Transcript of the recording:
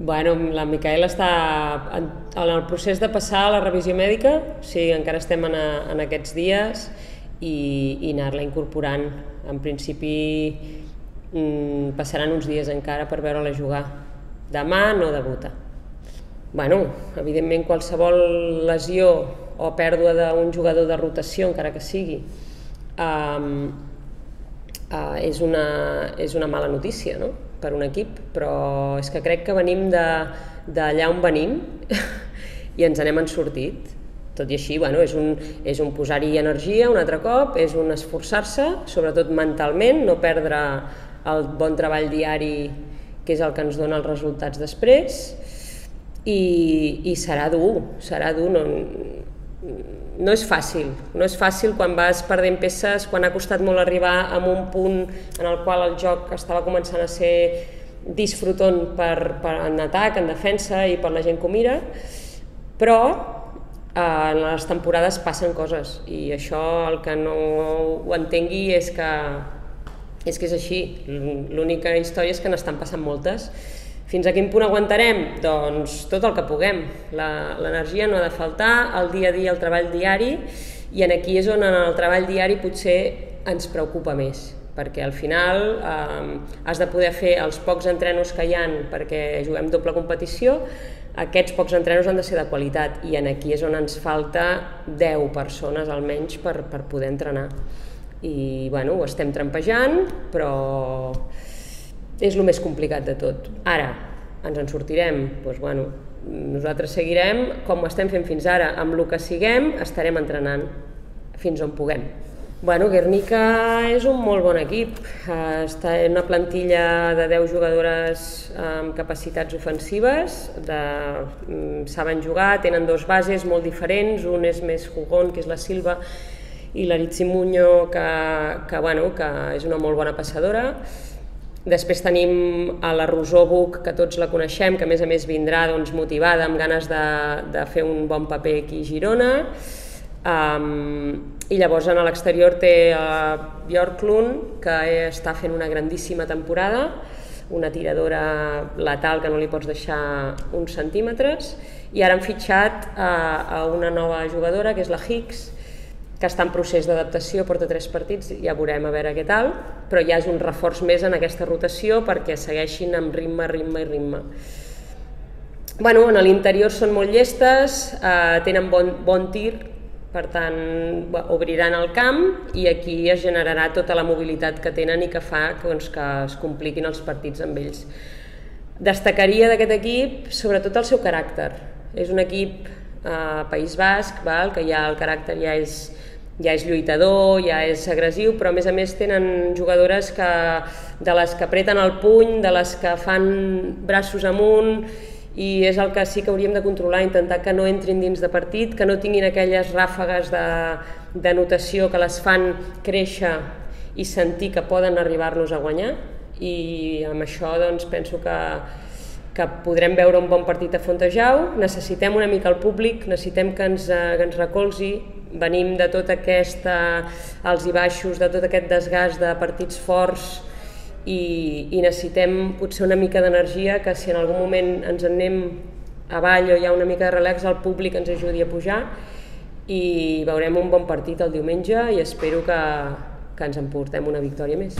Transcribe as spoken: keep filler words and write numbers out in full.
Bueno, la Micaela està en, en el procés de passar a la revisió mèdica, o sigui, encara estem en, a, en aquests dies i, i anar-la incorporant. En principi mm, passaran uns dies encara per veure-la jugar. Demà no debuta. Bueno, evidentment qualsevol lesió o pèrdua d'un jugador de rotació, encara que sigui, um, uh, és, una, és una mala notícia, no?, per un equip, però és que crec que venim d'allà on venim i ens n'hem sortit. Tot i així, bueno, és un, és un posar-hi energia un altre cop, és un esforçar-se, sobretot mentalment, no perdre el bon treball diari que és el que ens dona els resultats després, i, i serà dur, serà dur, no, no és fàcil, no és fàcil quan vas perdent peces, quan ha costat molt arribar a un punt en el qual el joc estava començant a ser disfrutant per, per, en atac, en defensa i per la gent que ho mira, però eh, en les temporades passen coses i això el que no ho entengui és que és, que és així. L'única història és que n'estan passant moltes. Fins a quin punt aguantarem? Doncs tot el que puguem. L'energia no ha de faltar, el dia a dia, el treball diari, i en aquí és on en el treball diari potser ens preocupa més, perquè al final eh, has de poder fer els pocs entrenos que hi ha perquè juguem doble competició, aquests pocs entrenos han de ser de qualitat, i en aquí és on ens falta deu persones almenys per, per poder entrenar. I bueno, ho estem trampejant, però és el més complicat de tot. Ara, ens en sortirem? Doncs, bueno, nosaltres seguirem com ho estem fent fins ara. Amb el que siguem estarem entrenant fins on puguem. Bueno, Guernica és un molt bon equip. Està en una plantilla de deu jugadores amb capacitats ofensives, de, saben jugar, tenen dos bases molt diferents, un és més jugón, que és la Silva, i l'Aritzi Muño, que, que, bueno, que és una molt bona passadora. Després tenim a la Rosó Buch, que tots la coneixem, que a més a més vindrà doncs, motivada, amb ganes de, de fer un bon paper aquí a Girona. Um, I llavors a l'exterior té a Björklund, que està fent una grandíssima temporada, una tiradora letal que no li pots deixar uns centímetres, i ara han fitxat a, a una nova jugadora, que és la Hicks, que està en procés d'adaptació, porta tres partits, ja veurem a veure què tal, però ja és un reforç més en aquesta rotació perquè segueixin amb ritme, ritme i ritme. Bueno, en l'interior són molt llestes, eh, tenen bon, bon tir, per tant obriran el camp i aquí es generarà tota la mobilitat que tenen i que fa doncs, que es compliquin els partits amb ells. Destacaria d'aquest equip sobretot el seu caràcter. És un equip eh, País Basc, val? Que ja el caràcter ja és ja és lluitador, ja és agressiu, però a més a més tenen jugadores que, de les que apreten el puny, de les que fan braços amunt, i és el que sí que hauríem de controlar, intentar que no entrin dins de partit, que no tinguin aquelles ràfegues d'anotació que les fan créixer i sentir que poden arribar-nos a guanyar, i amb això doncs, penso que, que podrem veure un bon partit a Fontejau. Necessitem una mica el públic, necessitem que ens, que ens recolzi. Venim de tot aquest alts i baixos, de tot aquest desgast de partits forts, i, i necessitem potser una mica d'energia, que si en algun moment ens en anem avall o hi ha una mica de relax, el públic ens ajudi a pujar, i veurem un bon partit el diumenge i espero que, que ens emportem una victòria més.